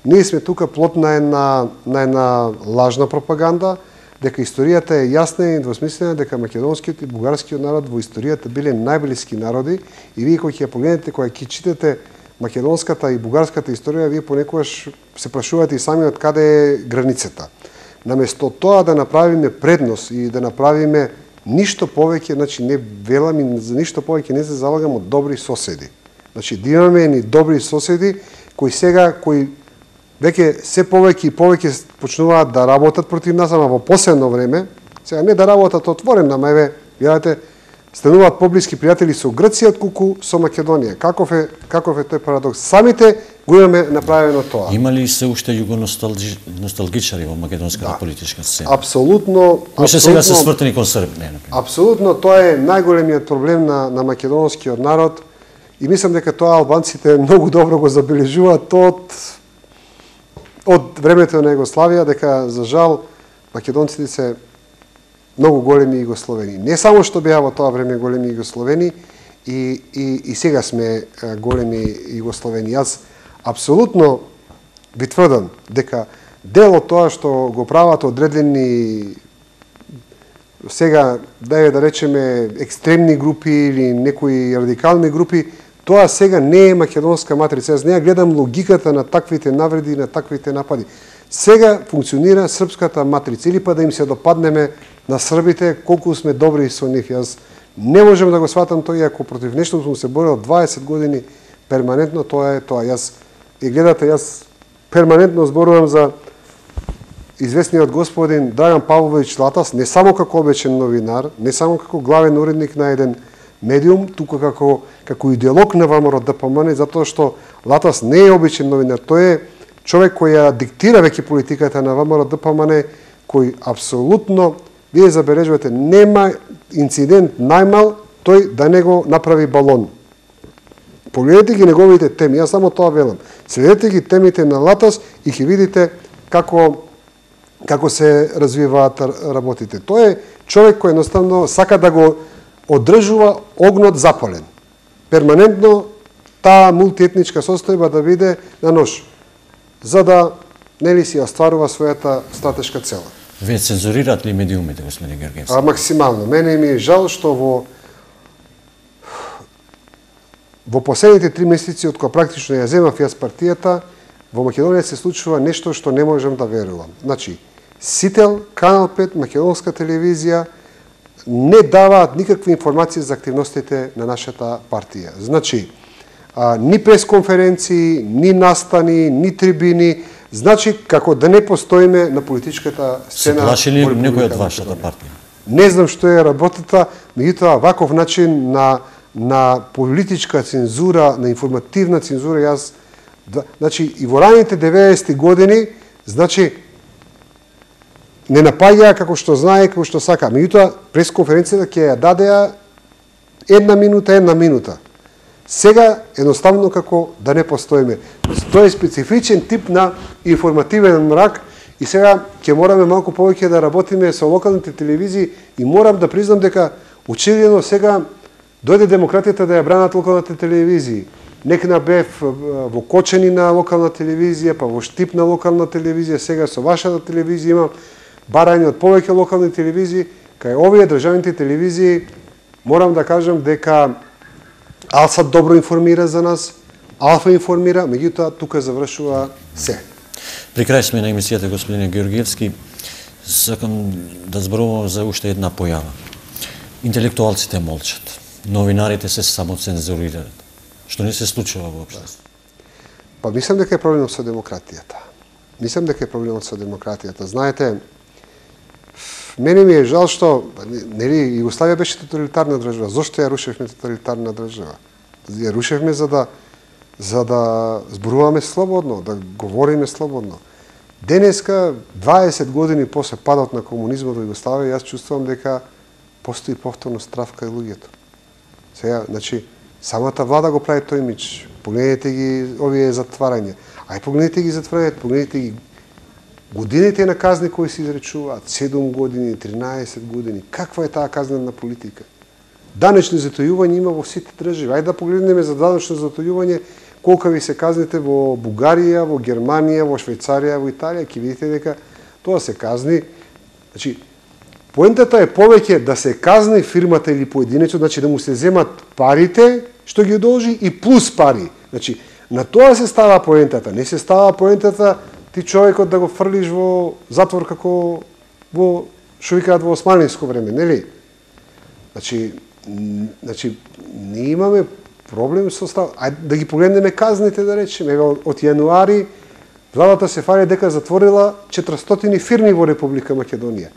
ние сме тука плод на една лажна пропаганда, дека историјата е јасна и недвосмислена, дека македонскиот и бугарскиот народ во историјата биле најблиски народи и вие кога ќе ја погледнете, кога ќе читате македонската и бугарската историја, вие понекогаш се прашувате и сами од каде е границата. Наместо тоа да направиме предност и да направиме ништо повеќе, значи не велам и за ништо повеќе не се залагам од добри соседи. Значи да имаме ни добри соседи кои веќе се повеќе и повеќе почнуваат да работат против нас, ама во последно време, сега не да работат отворено, ама еве, гледате, стануваат поблиски пријатели со Грција отколку со Македонија. Каков е тој парадокс? Самите го имаме направено тоа. Има ли се уште југоносталгичари во македонската политичка сцена? Апсолутно. Кои се сега се свртени кон Србија, например? Апсолутно, тоа е најголемиот проблем на македонскиот народ и мислам дека тоа албанците многу добро го забележуваат од времето на Југославија, дека за жал македонците се многу големи југословени. Не само што беа во тоа време големи југословени, и сега сме големи југословени. Јас апсолутно ви тврдам дека дел од тоа што го прават одредени сега, да речеме, екстремни групи или некои радикални групи, тоа сега не е македонска матрица. Јас не ја гледам логиката на таквите навреди и на таквите напади. Сега функционира српската матрица, или па да им се допаднеме на србите колку сме добри со нив. Јас не можем да го сватам тоа, ако против нешто сум се борил 20 години перманентно, тоа е тоа. Јас перманентно зборувам за известниот господин Драган Павлович Латас, не само како обичен новинар, не само како главен уредник на еден медиум, тука како идеолог на ВМРО ДПМН, затоа што Латас не е обичен новинар, тој е човек кој ја диктира веќе политиката на ВМРО ДПМН, кој апсолутно, вие забележувате, нема инцидент најмал тој да не го направи балон. Погледнете ги неговите теми, јас само тоа велам. Следете ги темите на Латас и ќе видите како се развиваат работите. Тој е човек кој едноставно сака да го одржува огнот запален. Перманентно таа мултиетничка состојба да биде на нож, за да нели си остварува својата стратешка цела. Вие цензурират ли медиумите, господин Георгиевски? Максимално. Мене ми е жал што во последните 3 месеци од кога практично ја земав јас партијата, во Македонија се случува нешто што не можам да верувам. Значи, Сител, Канал 5, македонска телевизија не даваат никакви информации за активностите на нашата партија. Значи, ни пресконференции, ни настани, ни трибини, значи како да не постоиме на политичката сцена. Се плаши ли некој од вашата партија? Не знам што е работата, меѓутоа ваков начин на политичка цензура, на информативна цензура, значи и во раните 90-ти години, значи не напаѓаа како што знае, како што сака. Меѓутоа пресконференцијата ќе ја дадеа една минута. Сега едноставно како да не постоиме. Тоа е специфичен тип на информативен мрак и сега ќе мораме малку повеќе да работиме со локалните телевизии и морам да признам дека очигледно сега дојде демократијата да ја бранат локалните телевизии. Некна бев во Кочени на локална телевизија, па во Штип на локална телевизија, сега со вашата телевизија имам барање од повеќе локални телевизии, кај овие државните телевизии морам да кажам дека Алсат добро информира за нас, Алфа информира, меѓутоа тука завршува се. При крај сме на емисијата, господин Георгиевски, сакам да зборувам за уште една појава. Интелектуалците молчат, новинарите се самоцензурираат. Што не се случува воопшто? Па мислам дека е проблемот со демократијата. Знаете, мене ми е жал што нели Југославија беше тоталитарна држава. Зошто ја рушевме тоталитарна држава? Ја рушевме за да зборуваме слободно, да говориме слободно. Денеска 20 години после падот на комунизмот во Југославија, јас чувствувам дека постои повторно страв кај луѓето. Сега, значи, самата влада го прави тој имидж. Погледнете ги овие затварања. Ај погледнете ги затварањата, погледнете ги годините на казни кои се изречуваат, 7 години, 13 години. Каква е таа казнена политика? Данечни затојувања има во сите држави. Ајде да погледнеме за данечно затојување колка ви се казните во Бугарија, во Германија, во Швајцарија, во Италија, ќе видите дека тоа се казни. Значи, поентата е повеќе да се казни фирмата или поединецот, значи да му се земат парите што ги должи и плюс пари. Значи, на тоа се става поентата. Не се става поентата ти човекот да го фрлиш во затвор како во што викаат во османлиско време, нели? Значи, ние имаме проблем со став. Ајде да ги погледнеме казните, да речеме. Од јануари владата се фали дека затворила 400 фирми во Република Македонија.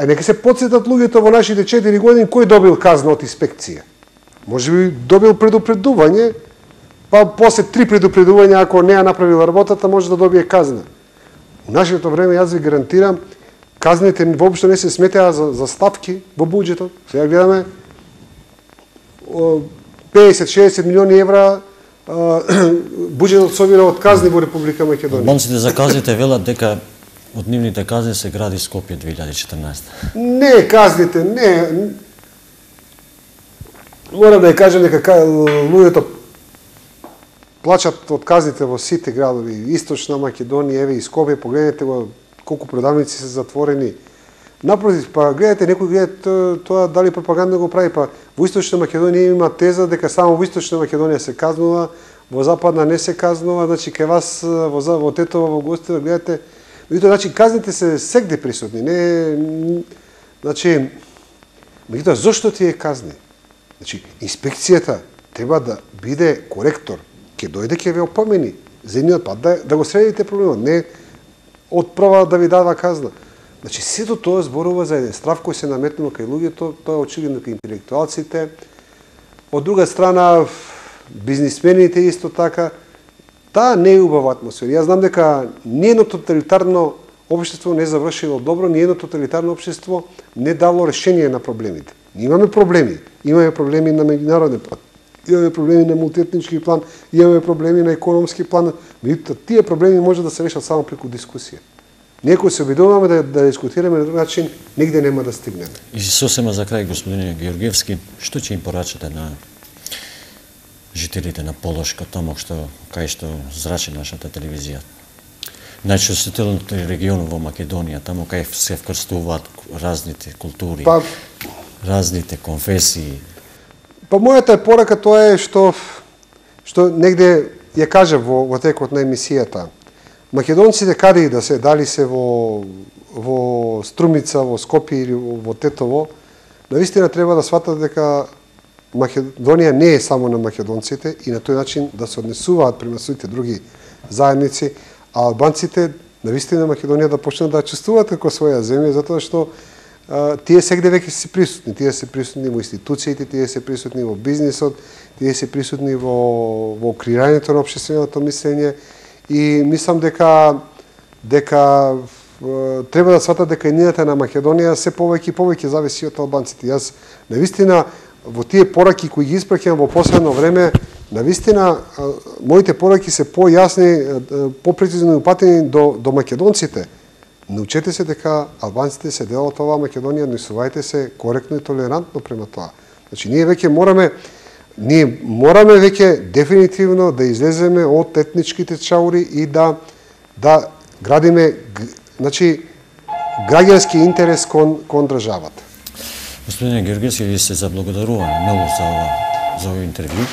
Нека се потсетат луѓето во нашите 4 години кој добил казна од инспекција. Може би добил предупредување, па после 3 предупредувања, ако не ја направил работата, може да добие казна. У нашето време, јас ви гарантирам, казните воопшто не се сметеа за ставки во буџетот. Сега гледаме 50-60 милиони евра буџетот собира од казни во Република Македонија. Албанците за казните велат дека од нивните казни се гради Скопје 2014. Не, казните, не. Морам да ја кажам дека луѓето плачат од казните во сите градови, Источна Македонија, еве и Скопје, погледнете го колку продавници се затворени. Напротив, па гледате, некој гледа тоа дали пропаганда го прави, па во Источна Македонија има теза дека само во Источна Македонија се казнува, во Западна не се казнува, значи кај вас во Тетово, во Гостива, гледате, значи казните се сегде присутни, не, значи, меѓутоа зошто тие казни? Значи, инспекцијата треба да биде коректор, ќе дојде ќе ве опомени за едниот пат да го средите проблемот, не одправа да ви дава казна. Значи, сето тоа зборува за еден страв кој се наметнува кај луѓето, тоа е очигледно кај интелектуалците. Од друга страна, бизнисмените исто така. Таа не е убава атмосфера. Јас знам дека ниедно тоталитарно општество не завршило добро, ниедно тоталитарно општество не дало решение на проблемите. Имаме проблеми. Имаме проблеми на меѓународен план. Имаме проблеми на мултиетнички план, имаме проблеми на економски план. Меѓутоа, тие проблеми може да се решат само преку дискусија. Некој се обидуваме да дискутираме на друг начин, нигде нема да стигнеме. И сосема за крај, господине Георгиевски, што ќе им порачате на жителите на Полошка, таму кај што зрачи нашата телевизија? Најчувствителниот регион во Македонија, таму кај се вкрстуваат разните култури, разните конфесии. Па мојата порака тоа е што негде ја кажа во текот на емисијата. Македонците каде и да се, дали се во Струмица, во Скопје или во Тетово, навистина треба да сватат дека Македонија не е само на македонците и на тој начин да се однесуваат према своите други заедници, а албанците навистина Македонија да почнат да чувствуваат како своја земја, затоа што тие сегде веќе се присутни. Тие се присутни во институциите, тие се присутни во бизнисот, тие се присутни во креирањето на општественото мислење и мислам дека треба да сватат дека иднината на Македонија се повеќе и повеќе зависи од албанците. Јас навистина во тие пораки кои ги испраќам во последно време, навистина моите пораки се појасни, попрецизно упатени до македонците. Научете се дека албанците се дел од оваа Македонија, однесувајте се коректно и толерантно према тоа. Значи, ние мораме веќе дефинитивно да излеземе од етничките чаури и да градиме, значи, граѓански интерес кон државата. Господине Георгиевски, ви се заблагодарувам многу за овој интервју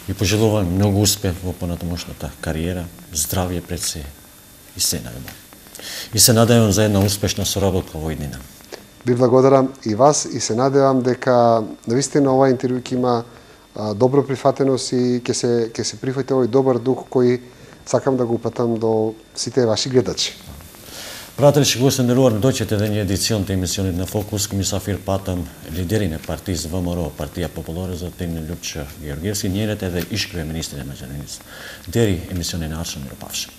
и пожелувам многу успех во понатамошната кариера, здравје пред се и се најдобро. И се надевам за една успешна соработка во иднина. Ви благодарам и вас и се надевам дека навистина ова интервју ќе има добро прифатеност и ќе се прифати овој добар дух кој сакам да го упатам до сите ваши гледачи. Пријатели, што го се нерувар, дојчете дење едицијонта емисионите на Фокус, мисафир патам лидери на партии за ВМРО, партија Популаре за Тегне Љупча Георгиевски, нијерете да ишкриве министри на Маđarinis. Дери емисиони на Аршан Миропавша.